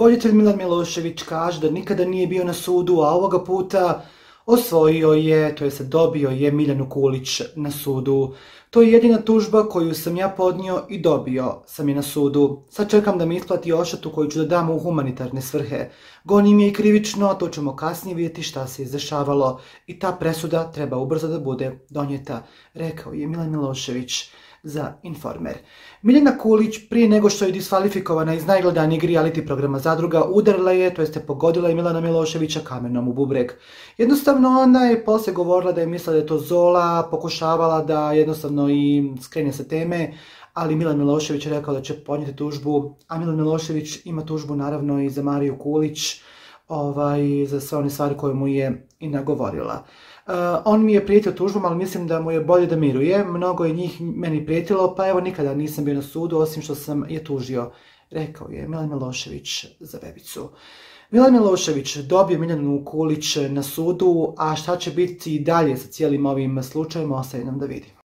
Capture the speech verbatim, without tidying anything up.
Voditelj Milan Milošević kaže da nikada nije bio na sudu, a ovoga puta osvojio je, to jest dobio je Miljanu Kulić na sudu. To je jedina tužba koju sam ja podnio i dobio sam je na sudu. Sad čekam da mi isplati odštetu koju ću da dam u humanitarne svrhe. Gonim je i krivično, a to ćemo kasnije vidjeti šta se izdešavalo. I ta presuda treba ubrzo da bude donijeta, rekao je Milan Milošević za Informer. Miljana Kulić, prije nego što je diskvalifikovana iz najgledanijeg reality programa Zadruga, udarila je, to jeste pogodila je Milana Miloševića kamenom u bubreg. Jednostavno ona je poslije govorila da je mislila da je to zola, pokušavala da jednostavno i skrene sa teme, ali Milan Milošević je rekao da će podnijeti tužbu, a Milan Milošević ima tužbu naravno i za Mariju Kulić, ovaj, za sve one stvari koje mu je i nagovorila. Uh, on mi je prijetio tužbom, ali mislim da mu je bolje da miruje. Mnogo je njih meni prijetilo, pa evo nikada nisam bio na sudu, osim što sam je tužio, rekao je Milan Milošević za Bebicu. Milan Milošević dobio Miljanu Kulić na sudu, a šta će biti dalje sa cijelim ovim slučajem, ostaje nam da vidimo.